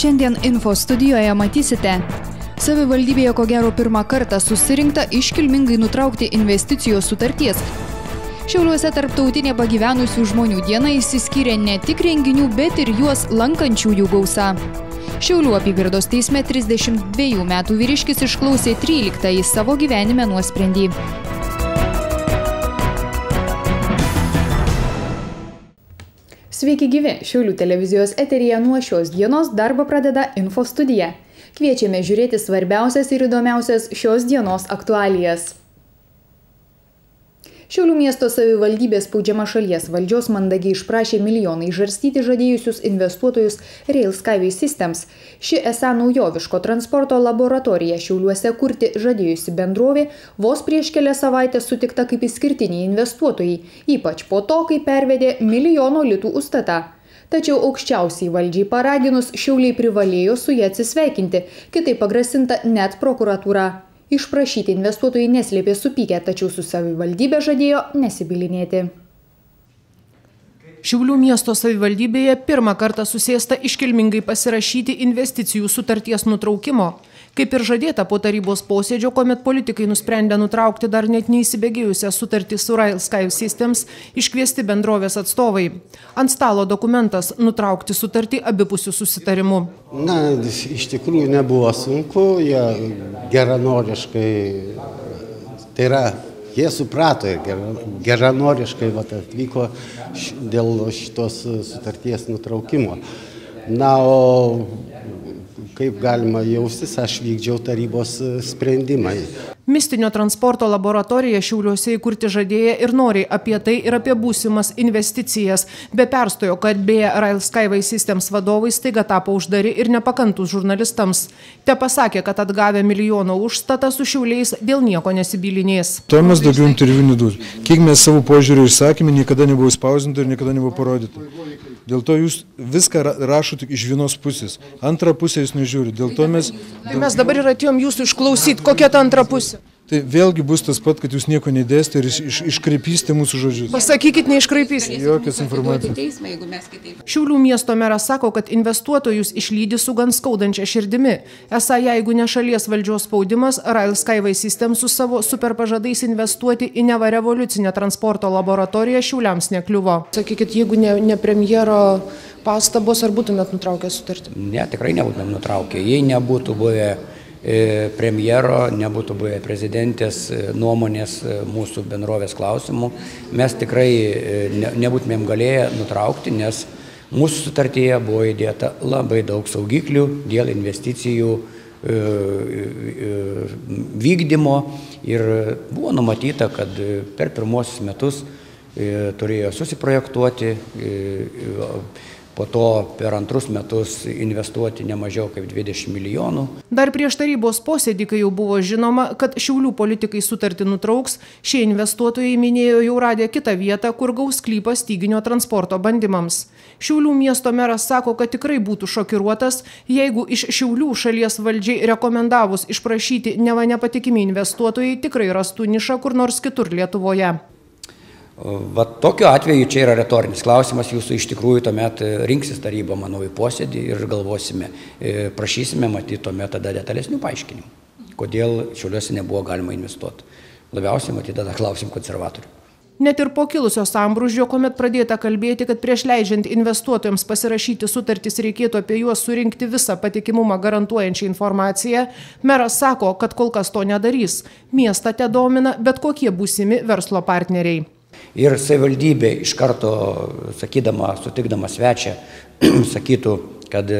Šiandien info studijoje matysite. Savivaldybėje ko gero pirmą kartą susirinkta iškilmingai nutraukti investicijos sutarties. Šiauliuose tarptautinė pagyvenusių žmonių diena išsiskyrė ne tik renginių, bet ir juos lankančiųjų gausa. Šiaulių apygardos teisme 32 metų vyriškis išklausė 13 savo gyvenime nuosprendį. Sveiki gyvi, Šiaulių televizijos eteryje nuo šios dienos darbą pradeda Info studija. Kviečiame žiūrėti svarbiausias ir įdomiausias šios dienos aktualijas. Šiaulių miesto savivaldybės spaudžiama šalies valdžios mandagiai išprašė milijoną išžarstyti žadėjusius investuotojus Rail Skyway Systems. Ši esą naujoviško transporto laboratorija Šiauliuose kurti žadėjusi bendrovė vos prieš kelias savaitės sutikta kaip išskirtiniai investuotojai, ypač po to, kai pervedė milijono litų užstatą. Tačiau aukščiausiai valdžiai paraginus Šiauliai privalėjo su ja atsisveikinti, kitaip pagrasinta net prokuratūra. Išprašyti investuotojai neslėpė supykę, tačiau su savivaldybė žadėjo nesibylinėti. Šiaulių miesto savivaldybėje pirmą kartą susėsta iškilmingai pasirašyti investicijų sutarties nutraukimo. Kaip ir žadėta po tarybos posėdžio, kuomet politikai nusprendė nutraukti dar net neįsibėgėjusią sutartį su Rail Skyway Systems, iškviesti bendrovės atstovai. Ant stalo dokumentas nutraukti sutartį abipusių susitarimu. Na, iš tikrųjų nebuvo sunku, jie geranoriškai, tai yra, jie suprato ir geranoriškai atvyko dėl šitos sutarties nutraukimo. Na, o kaip galima jaustis, aš vykdžiau tarybos sprendimą. Mistinio transporto laboratoriją Šiauliuose įkurti žadėję ir noriai apie tai ir apie būsimas investicijas. Be perstojo, kad beje Rail Skyway Systems vadovai staiga tapo uždari ir nepakantus žurnalistams. Te pasakė, kad atgavę milijono užstatą su Šiauliais dėl nieko nesibylinės. To mes daugiau interviu neduos. Kiek mes savo požiūrį išsakėme, niekada nebuvo spausdinta ir niekada nebuvo parodyta. Dėl to jūs viską rašote iš vienos pusės. Antrą pusę jūs nežiūrite. Dėl to mes dabar ir atėjom jūsų išklausyti, kokia ta antra pusė. Tai vėlgi bus tas pat, kad jūs nieko neįdėsite ir iškraipysite mūsų žodžius. Pasakykit, neiškraipysite. Jokios informacijos. Šiaulių miesto meras sako, kad investuotojus išlydi su gan skaudančia širdimi. Esą, jeigu ne šalies valdžios spaudimas, Rail Skyway Systems su savo superpažadais investuoti į neva revoliucinę transporto laboratoriją Šiauliams nekliuvo. Sakykit, jeigu ne premjero pastabos, ar būtumėt nutraukę sutartį? Ne, tikrai nebūtumėm nutraukę. Jei nebūtų buvę premjero, nebūtų buvę prezidentės nuomonės mūsų bendrovės klausimų, mes tikrai nebūtumėm galėję nutraukti, nes mūsų sutartyje buvo įdėta labai daug saugiklių dėl investicijų vykdymo ir buvo numatyta, kad per pirmosius metus turėjo susiprojektuoti, po to per antrus metus investuoti ne mažiau kaip 20 milijonų. Dar prieš tarybos posėdį, kai jau buvo žinoma, kad Šiaulių politikai sutartį nutrauks, šie investuotojai minėjo jau radę kitą vietą, kur gaus sklypą styginio transporto bandymams. Šiaulių miesto meras sako, kad tikrai būtų šokiruotas, jeigu iš Šiaulių šalies valdžiai rekomendavus išprašyti neva nepatikimi investuotojai tikrai rastų nišą kur nors kitur Lietuvoje. Va tokiu atveju čia yra retorinis klausimas, jūsų iš tikrųjų tuomet rinksis taryba, manau, į posėdį ir galvosime, prašysime matyti tuomet tada detalesnių paaiškinimų, kodėl Šiauliuose nebuvo galima investuoti. Labiausiai matyti tada klausim konservatorių. Net ir po kilusio sambrūžio, kuomet pradėta kalbėti, kad prieš leidžiant investuotojams pasirašyti sutartis reikėtų apie juos surinkti visą patikimumą garantuojančią informaciją, meras sako, kad kol kas to nedarys. Miestą te domina bet kokie būsimi verslo partneriai. Ir savivaldybė iš karto, sakydama, sutikdama svečią, sakytų, kad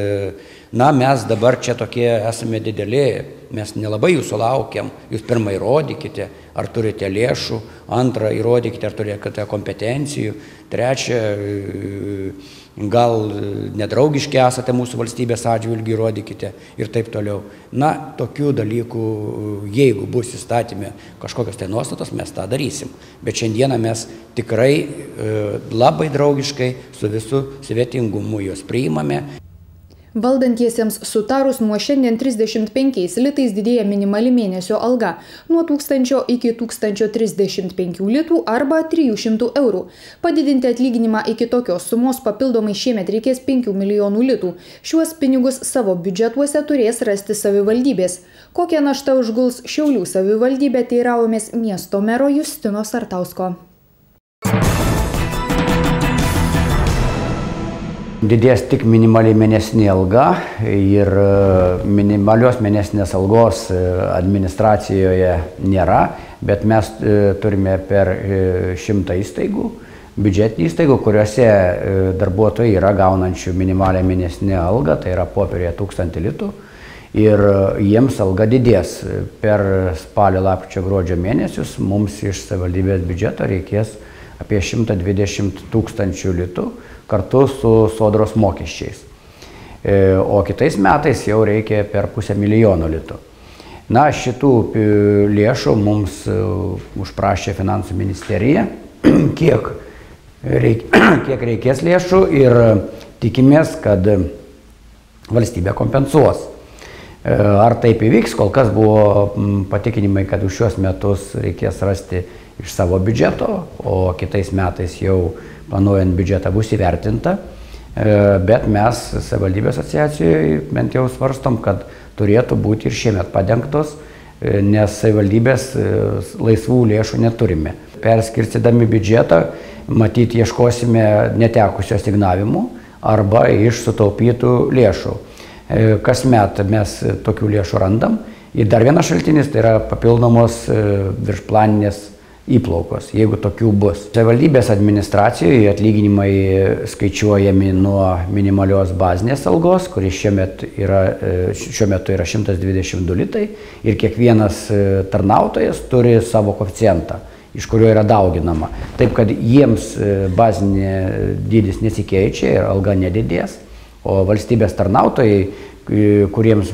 na, mes dabar čia tokie esame dideli, mes nelabai jūsų laukiam, jūs pirmą įrodykite, ar turite lėšų, antrą įrodykite, ar turite kompetencijų, trečią, gal nedraugiški esate mūsų valstybės atžvilgiu, įrodykite ir taip toliau. Na, tokių dalykų, jeigu bus įstatymė kažkokios tai nuostatos, mes tą darysim. Bet šiandieną mes tikrai labai draugiškai su visų svetingumu juos priimame. Valdantiesiems sutarus nuo šiandien 35 litais didėja minimali mėnesio alga nuo 1000 iki 1035 litų arba 300 eurų. Padidinti atlyginimą iki tokios sumos papildomai šiemet reikės 5 milijonų litų. Šiuos pinigus savo biudžetuose turės rasti savivaldybės. Kokią naštą užguls Šiaulių savivaldybė, teiraujamės miesto mero Justino Sartausko. Didės tik minimaliai mėnesinė alga ir minimalios mėnesinės algos administracijoje nėra, bet mes turime per 100 įstaigų, biudžetinių įstaigų, kuriuose darbuotojai yra gaunančių minimalią mėnesinę algą, tai yra popieriuje 1000 litų, ir jiems alga didės. Per spalio, lapkričio, gruodžio mėnesius mums iš savivaldybės biudžeto reikės apie 120 000 litų, kartu su sodros mokesčiais. O kitais metais jau reikia per 500 000 litų. Na, šitų lėšų mums užprašė Finansų ministerija, kiek reikės lėšų ir tikimės, kad valstybė kompensuos. Ar taip įvyks, kol kas buvo patikinimai, kad už šios metus reikės rasti iš savo biudžeto, o kitais metais jau planuojant biudžetą bus įvertinta, bet mes savivaldybės asociacijoje bent jau svarstom, kad turėtų būti ir šiemet padengtos, nes savivaldybės laisvų lėšų neturime. Perskirstydami biudžetą, matyt, ieškosime netekusių asignavimų arba iš sutaupytų lėšų. Kasmet mes tokių lėšų randam. Ir dar vienas šaltinis, tai yra papildomos viršplaninės įplaukos, jeigu tokių bus. Savivaldybės administracijoje atlyginimai skaičiuojami nuo minimalios bazinės algos, kuris šiuo metu yra 122 litai, ir kiekvienas tarnautojas turi savo koeficientą, iš kurio yra dauginama. Taip, kad jiems bazinė dydis nesikeičia ir alga nedidės, o valstybės tarnautojai, kuriems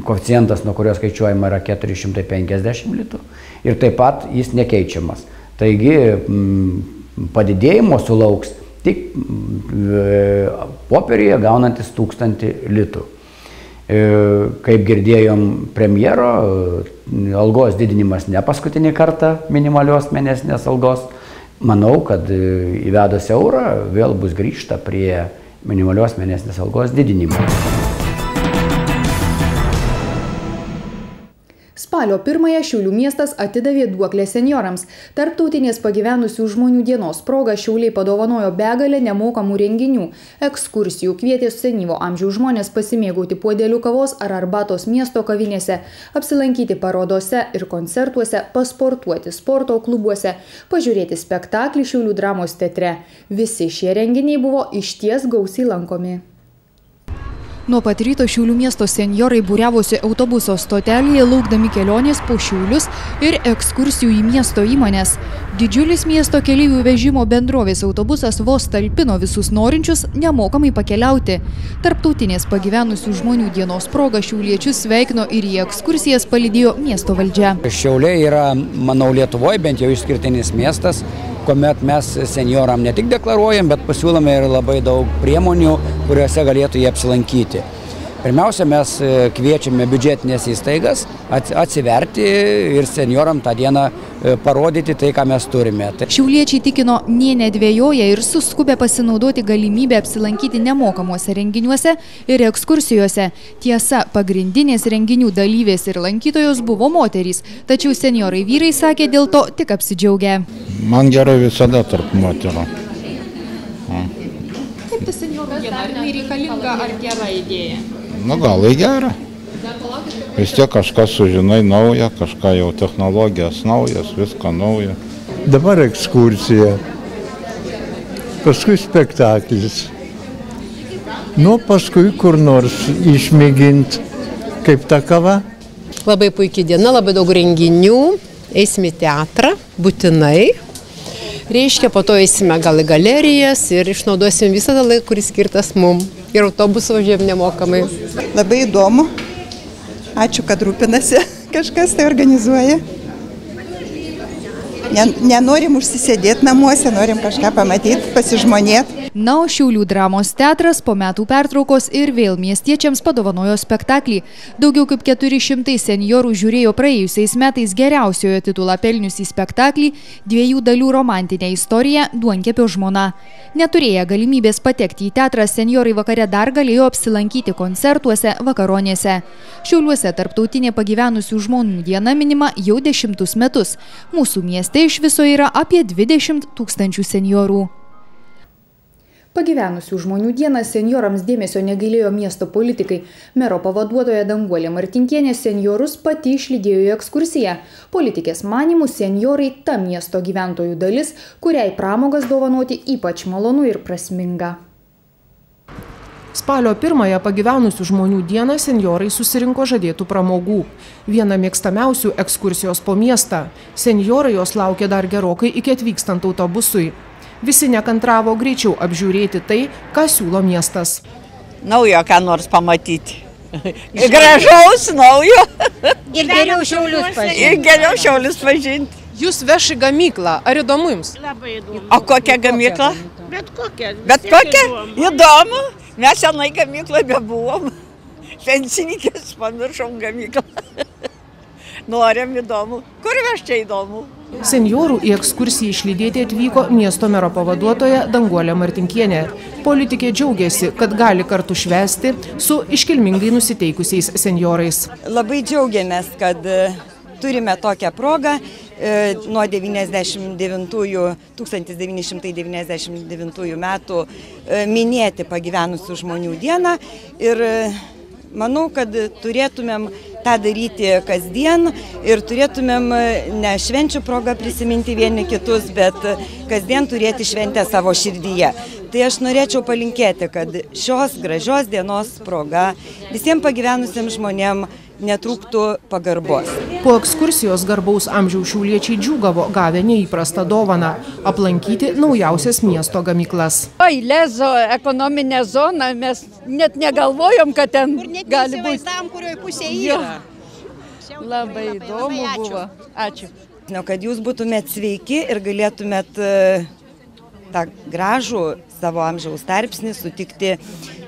koeficientas, nuo kurio skaičiuojama, yra 450 litų ir taip pat jis nekeičiamas. Taigi padidėjimo sulauks tik popieriuje gaunantis 1000 litų. Kaip girdėjom premjero, algos didinimas ne paskutinį kartą minimalios mėnesinės algos. Manau, kad įvedus eurą vėl bus grįžta prie minimalios mėnesinės algos didinimo. Spalio 1-ąją Šiaulių miestas atidavė duoklę senjorams. Tarptautinės pagyvenusių žmonių dienos proga Šiauliai padovanojo begalę nemokamų renginių, ekskursijų, kvietė senyvo amžiaus žmonės pasimėgauti puodelių kavos ar arbatos miesto kavinėse, apsilankyti parodose ir koncertuose, pasportuoti sporto klubuose, pažiūrėti spektaklį Šiaulių dramos teatre. Visi šie renginiai buvo išties gausiai lankomi. Nuo pat ryto Šiaulių miesto senjorai būriavosi autobuso stotelėje, laukdami kelionės po Šiaulius ir ekskursijų į miesto įmonės. Didžiulis miesto keleivių vežimo bendrovės autobusas vos talpino visus norinčius nemokamai pakeliauti. Tarptautinės pagyvenusių žmonių dienos proga šiauliečius sveikino ir į ekskursijas palydėjo miesto valdžia. Šiauliai yra, manau, Lietuvoje bent jau išskirtinis miestas, kuomet mes senjoram ne tik deklaruojam, bet pasiūlome ir labai daug priemonių, kuriuose galėtų jie apsilankyti. Pirmiausia, mes kviečiame biudžetinės įstaigas atsiverti ir senjoram tą dieną parodyti tai, ką mes turime. Šiauliečiai tikino, nė nedvėjoja ir suskubė pasinaudoti galimybę apsilankyti nemokamuose renginiuose ir ekskursijose. Tiesa, pagrindinės renginių dalyvės ir lankytojos buvo moterys, tačiau senjorai vyrai sakė dėl to tik apsidžiaugę. Man gerai visada tarp moterų. Kaip ta senjorų diena, ar jinai reikalinga, ar gera idėja? Nu, gal į gerą. Vis tiek kažką sužinai naują, kažką jau technologijas naujas, viską nauja. Dabar ekskursija, paskui spektaklis. Nu, paskui kur nors išmėginti, kaip ta kava. Labai puikia diena, labai daug renginių, eisime į teatrą, būtinai. Reiškia, po to eisime gal į galerijas ir išnaudosim visą tą laiką, kuris skirtas mum. Ir autobusų važiuojam nemokamai. Labai įdomu. Ačiū, kad rūpinasi. Kažkas tai organizuoja. Nenorim užsisėdėti namuose, norim kažką pamatyti, pasižmonėti. Na, o Šiaulių dramos teatras po metų pertraukos ir vėl miestiečiams padovanojo spektaklį. Daugiau kaip 400 senjorų žiūrėjo praėjusiais metais geriausiojo titulą pelniusį spektaklį 2 dalių romantinę istoriją Duonkepio žmona. Neturėję galimybės patekti į teatrą, senjorai vakare dar galėjo apsilankyti koncertuose, vakaronėse. Šiauliuose tarptautinė pagyvenusių žmonių diena minima jau 10 metus. Mūsų mieste iš viso yra apie 20 000 senjorų. Pagyvenusių žmonių dieną senjorams dėmesio negailėjo miesto politikai. Mero pavaduotoja Danguolė Martinkienė senjorus pati išlydėjo į ekskursiją. Politikės manymų senjorai ta miesto gyventojų dalis, kuriai pramogas dovanoti ypač malonu ir prasminga. Spalio 1-ąją pagyvenusių žmonių dieną senjorai susirinko žadėtų pramogų. Viena mėgstamiausių ekskursijos po miestą. Senjorai jos laukė dar gerokai iki atvykstant autobusui. Visi nekantravo greičiau apžiūrėti tai, ką siūlo miestas. Naujo ką nors pamatyti. Gražaus, naujo. Ir geriau Šiaulius pažinti. Jūs veš į gamyklą. Ar įdomu jums? Labai įdomu. O kokia gamykla? Bet kokia. Bet kokia? Įdomu. Mes senai gamykloje bebuvom. Pensininkės pamiršom gamyklą. Norim įdomu. Kur veš čia įdomu? Senjorų į ekskursiją išlydėti atvyko miesto mero pavaduotoja Danguolė Martinkienė. Politikė džiaugiasi, kad gali kartu švęsti su iškilmingai nusiteikusiais senjorais. Labai džiaugiamės, kad turime tokią progą nuo 1999 metų minėti pagyvenusių žmonių dieną ir manau, kad turėtumėm tą daryti kasdien ir turėtumėm ne švenčių progą prisiminti vieni kitus, bet kasdien turėti šventę savo širdyje. Tai aš norėčiau palinkėti, kad šios gražios dienos proga visiems pagyvenusiems žmonėms netrūktų pagarbos. Po ekskursijos garbaus amžiaus šiauliečiai džiūgavo gavę neįprastą dovaną – aplankyti naujausias miesto gamyklas. Oi, Lezo ekonominė zona, mes net negalvojom, kad ten gali būti. Kurioje pusėje yra. Labai įdomu buvo. Ačiū. Kad jūs būtumėt sveiki ir galėtumėt tą gražų savo amžiaus tarpsnį sutikti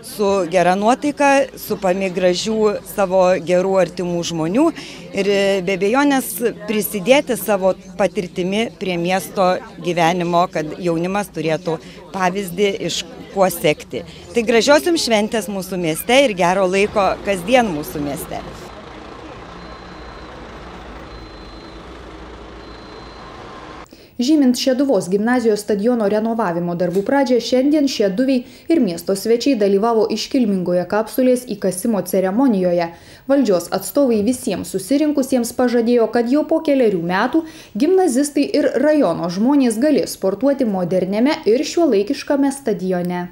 su gera nuotaika, su gražių savo gerų artimų žmonių ir be abejonės prisidėti savo patirtimi prie miesto gyvenimo, kad jaunimas turėtų pavyzdį iš kuo sekti. Tai gražios jums šventės mūsų mieste ir gero laiko kasdien mūsų mieste. Žymint Šeduvos gimnazijos stadiono renovavimo darbų pradžią, šiandien šeduviai ir miesto svečiai dalyvavo iškilmingoje kapsulės įkasimo ceremonijoje. Valdžios atstovai visiems susirinkusiems pažadėjo, kad jau po kelerių metų gimnazistai ir rajono žmonės galės sportuoti moderniame ir šiuolaikiškame stadione.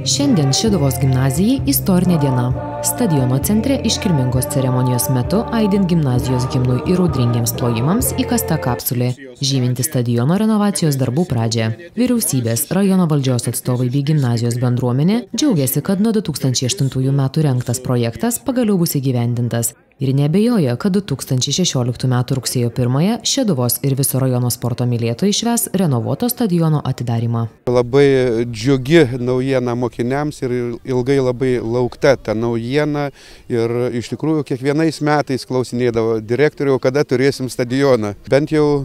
Šiandien Šeduvos gimnazijai istorinė diena. Stadiono centre iškilmingos ceremonijos metu aidint gimnazijos himnui ir audringiems plojimams įkasta kapsulė, žyminti stadiono renovacijos darbų pradžią. Vyriausybės, rajono valdžios atstovai bei gimnazijos bendruomenė džiaugiasi, kad nuo 2008 metų rengtas projektas pagaliau bus įgyvendintas. Ir neabejoja, kad 2016 metų rugsėjo 1-ąją Šeduvos ir viso rajono sporto mylėtojai švęs renovuoto stadiono atidarymą. Labai džiugi naujiena mokiniams ir ilgai labai laukta ta naujiena ir iš tikrųjų kiekvienais metais klausinėdavo direktorių, kada turėsim stadioną. Bent jau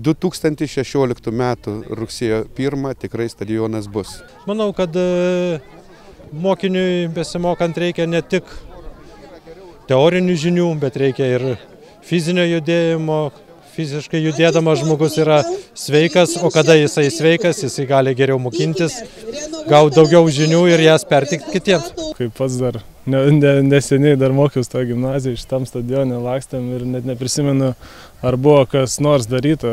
2016 metų rugsėjo 1 tikrai stadionas bus. Manau, kad mokiniui besimokant reikia ne tik teorinių žinių, bet reikia ir fizinio judėjimo. Fiziškai judėdamas žmogus yra sveikas, o kada jisai sveikas, jisai gali geriau mokintis, gauti daugiau žinių ir jas pertikti kitiems. Kaip pats dar neseniai dar mokiausi tą gimnaziją, šitam stadione lakstėm ir net neprisimenu, ar buvo kas nors daryta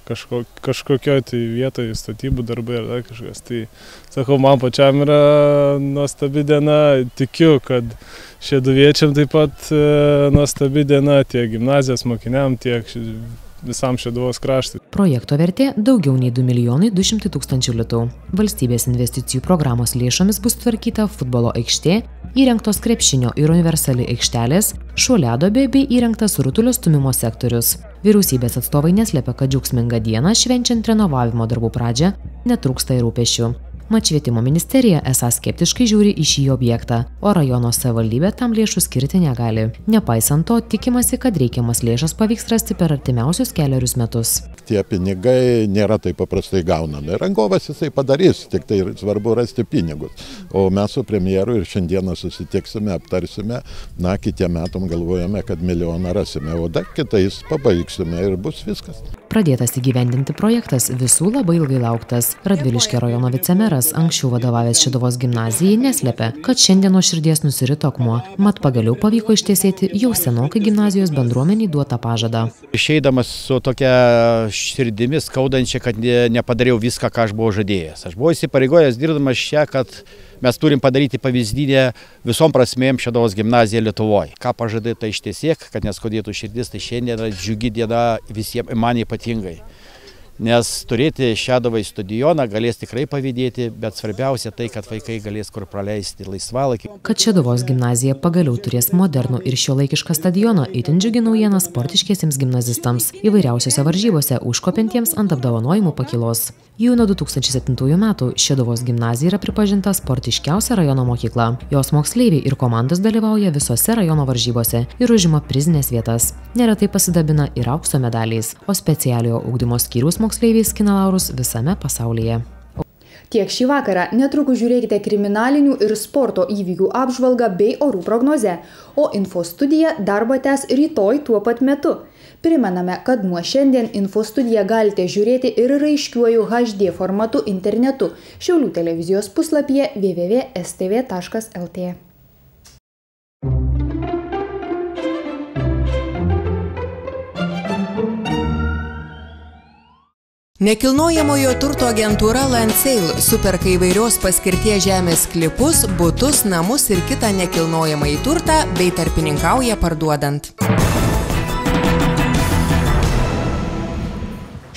kažkokioj tai vietoje statybų darbai ar dar kažkas. Tai sakau, man pačiam yra nuostabi diena, tikiu, kad šeduviečiam taip pat nuostabi diena, tiek gimnazijos mokiniam, tiek visam Šeduvos kraštui. Projekto vertė daugiau nei 2,2 litų. Valstybės investicijų programos lėšomis bus tvarkyta futbolo aikštė, įrengtos krepšinio ir universali aikštelės, šuoliadobė bei įrengtas rutulio stūmimo sektorius. Vyriausybės atstovai neslepia, kad džiaugsmingą dieną švenčiant renovavimo darbų pradžią netrūksta ir rūpesčių. Mat švietimo ministerija esą skeptiškai žiūri į šį objektą, o rajono savivaldybė tam lėšų skirti negali. Nepaisant to, tikimasi, kad reikiamas lėšas pavyks rasti per artimiausius kelerius metus. Tie pinigai nėra taip paprastai gaunami. Rangovas jisai padarys, tik tai svarbu rasti pinigus. O mes su premjeru ir šiandieną susitiksime, aptarsime, kitiem metom galvojame, kad milijoną rasime, o dar kitais pabaigsime ir bus viskas. Pradėtas įgyvendinti projektas visų labai ilgai lauktas. Radviliškio rajono vicemeras, anksčiau vadovavęs Šeduvos gimnazijai, neslepia, kad šiandien nuo širdies nusirito akmuo, mat pagaliau pavyko ištiesėti jau senokai gimnazijos bendruomeniai duotą pažadą. Išeidamas su tokia širdimi skaudančia, kad nepadariau viską, ką aš buvau žadėjęs. Aš buvau įsipareigojęs dirbdamas čia, kad mes turim padaryti pavyzdinę visom prasmėm Šeduvos gimnaziją Lietuvoje. Ką pažadai, tai ištiesėk, kad neskaudėtų širdis, tai šiandien yra džiugi diena visiems, man ypatingai. Nes turėti Šeduvai stadioną galės tikrai pavydėti, bet svarbiausia tai, kad vaikai galės kur praleisti laisvalaikį. Kad Šeduvos gimnazija pagaliau turės modernų ir šiuolaikišką stadioną, itin džiugi naujiena sportiškiesiems gimnazistams, įvairiausiose varžybose užkopintiems ant apdovanojimų pakylos. Jau nuo 2007 metų Šeduvos gimnazija yra pripažinta sportiškiausia rajono mokykla. Jos moksleiviai ir komandos dalyvauja visose rajono varžybose ir užima prizinės vietas. Neretai pasidabina ir aukso medaliais, o specialiojo ugdymo skyriaus moksleiviai skina laurus visame pasaulyje. Tiek šį vakarą, netrukus žiūrėkite kriminalinių ir sporto įvykių apžvalgą bei orų prognozę, o Info studija darbą tęs rytoj tuo pat metu. Primename, kad nuo šiandien Info studiją galite žiūrėti ir raiškiuoju HD formatu internetu Šiaulių televizijos puslapyje www.stv.lt. Nekilnojamojo turto agentūra Landsale superka įvairios paskirties žemės sklypus, butus, namus ir kitą nekilnojamąjį turtą bei tarpininkauja parduodant.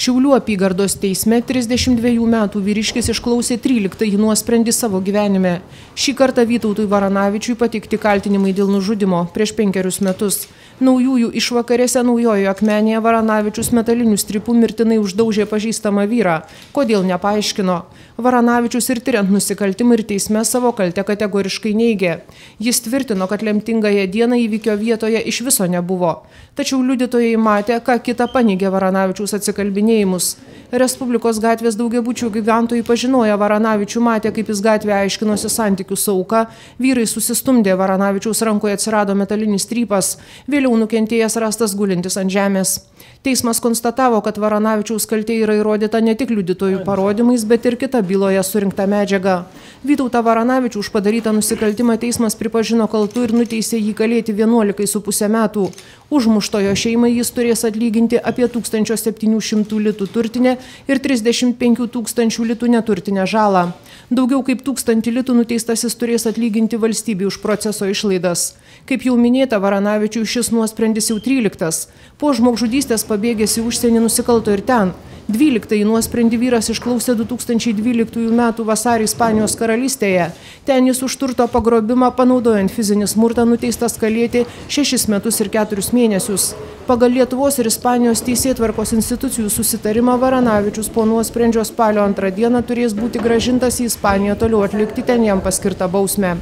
Šiaulių apygardos teisme 32 metų vyriškis išklausė 13 nuosprendį savo gyvenime. Šį kartą Vytautui Varanavičiui pateikti kaltinimai dėl nužudimo prieš 5 metus. Naujųjų išvakarėse Naujojoje Akmenėje Varanavičius metaliniu strypu mirtinai uždaužė pažįstamą vyrą. Kodėl nepaaiškino? Varanavičius ir tiriant nusikaltimą ir teisme savo kaltę kategoriškai neigė. Jis tvirtino, kad lemtingąją dieną įvykio vietoje iš viso nebuvo. Tačiau liudytojai matė, ką kita paneigė Varanavičiaus atsikalbinėjimus. Respublikos gatvės daugiabučių gyventojai pažinoję Varanavičių matė, kaip jis gatvėje aiškinosi santykių su auka, vyrai susistumdė, Varanavičiaus rankoje atsirado metalinis strypas, vėliau nukentėjęs rastas gulintis ant žemės. Teismas konstatavo, kad Varanavičiaus kaltė yra įrodyta ne tik liudytojų parodymais, bet ir kita byloje surinkta medžiaga. Vytautą Varanavičių už padarytą nusikaltimą teismas pripažino kaltu ir nuteisė jį kalėti 11,5 metų. Užmuštojo šeimai jis turės atlyginti apie 1700 litų turtinę ir 35 000 litų neturtinę žalą. Daugiau kaip 1000 litų nuteistasis turės atlyginti valstybei už proceso išlaidas. Kaip jau minėta, Varanavičiui šis nuosprendis jau 13. Po žmogžudystės pabėgęs į užsienį nusikalto ir ten. 12 nuosprendį vyras išklausė 2012 metų vasarį Ispanijos karalystėje. Ten jis už turto pagrobimą, panaudojant fizinį smurtą, nuteistas kalėti 6 metus ir 4 mėnesius. Pagal Lietuvos ir Ispanijos teisėtvarkos institucijų susitarimą Varanavičius po nuosprendžio spalio 2 dieną turės būti grąžintas į Ispaniją toliau atlikti ten jam paskirtą bausmę.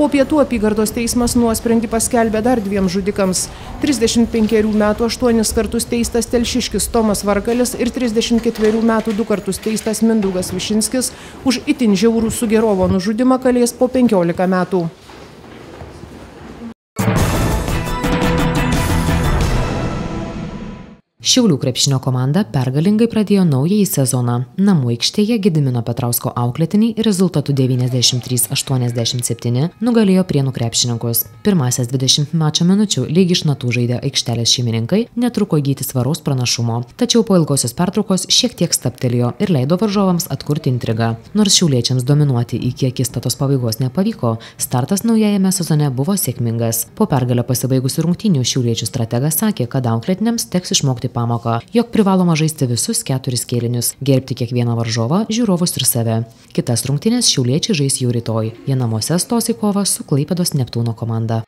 Po pietų apygardos teismas nuosprendį paskelbė dar 2 žudikams. 35 metų 8 kartus teistas telšiškis Tomas Varkalis ir 34 metų 2 kartus teistas Mindaugas Višinskis už itin žiaurų Sugerovo nužudymą kalės po 15 metų. Šiaulių krepšinio komanda pergalingai pradėjo naująjį sezoną. Namų aikštėje Gedimino Petrausko auklėtiniai rezultatu 93-87 nugalėjo Prienų krepšininkus. Pirmąsias 20 mačo minučių lyg iš natų žaidę aikštelės šeimininkai netruko įgyti svaraus pranašumo. Tačiau po ilgosios pertraukos šiek tiek stabtelėjo ir leido varžovams atkurti intrigą. Nors šiauliečiams dominuoti iki akistatos pabaigos nepavyko, startas naujajame sezone buvo sėkmingas. Po pergalę pasibaigusių rungtynių šiauliečių strategas sakė, kad auklėtiniams teks išmokti pamoką, jog privaloma žaisti visus 4 kėlinius, gerbti kiekvieną varžovą, žiūrovus ir save. Kitas rungtynes šiauliečiai žais jau rytoj. Jie namuose stos į kovą su Klaipėdos Neptūno komanda.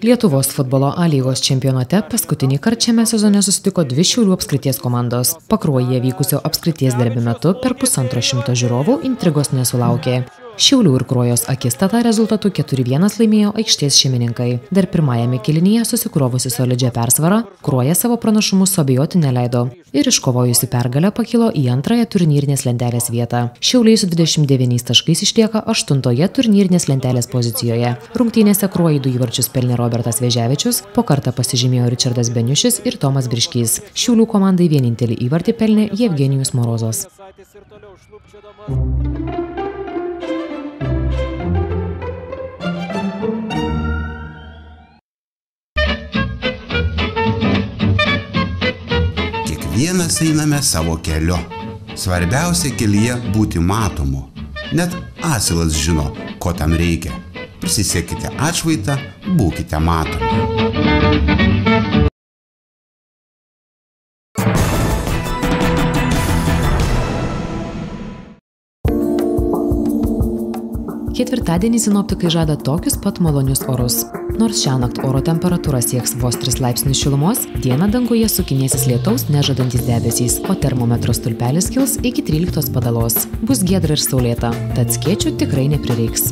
Lietuvos futbolo A lygos čempionate paskutinį kartą šiame sezone susitiko 2 Šiaulių apskrities komandos. Pakruojyje vykusio apskrities derbio metu per 150 žiūrovų intrigos nesulaukė. Šiaulių ir Kruojos akistata rezultatu 4-1 laimėjo aikštės šeimininkai. Dar pirmajame kėlinyje susikrovusi solidžią persvarą, Kruoja savo pranašumus suabejoti neleido. Ir iškovojusi pergalę pakilo į antrąją turnyrinės lentelės vietą. Šiauliai su 29 taškais išlieka 8-oje turnyrinės lentelės pozicijoje. Rungtynėse Kruojai 2 įvarčius pelnė Robertas Vėžiavičius, po kartą pasižymėjo Ričardas Beniušis ir Tomas Briškys. Šiaulių komandai vienintelį įvartį pelnė Jevgenijus Morozas. Kiekvienas einame savo keliu. Svarbiausia kelyje būti matomu. Net asilas žino, ko tam reikia. Prisisėkite atšvaitą, būkite matomi. Ketvirtadienį sinoptikai žada tokius pat malonius orus. Nors šiąnakt oro temperatūra sieks vos 3 laipsnius šilumos, dieną danguje sukinėsis lietaus nežadantys debesys, o termometro stulpelis kils iki 13 padalos. Bus giedra ir saulėta, tad skėčių tikrai neprireiks.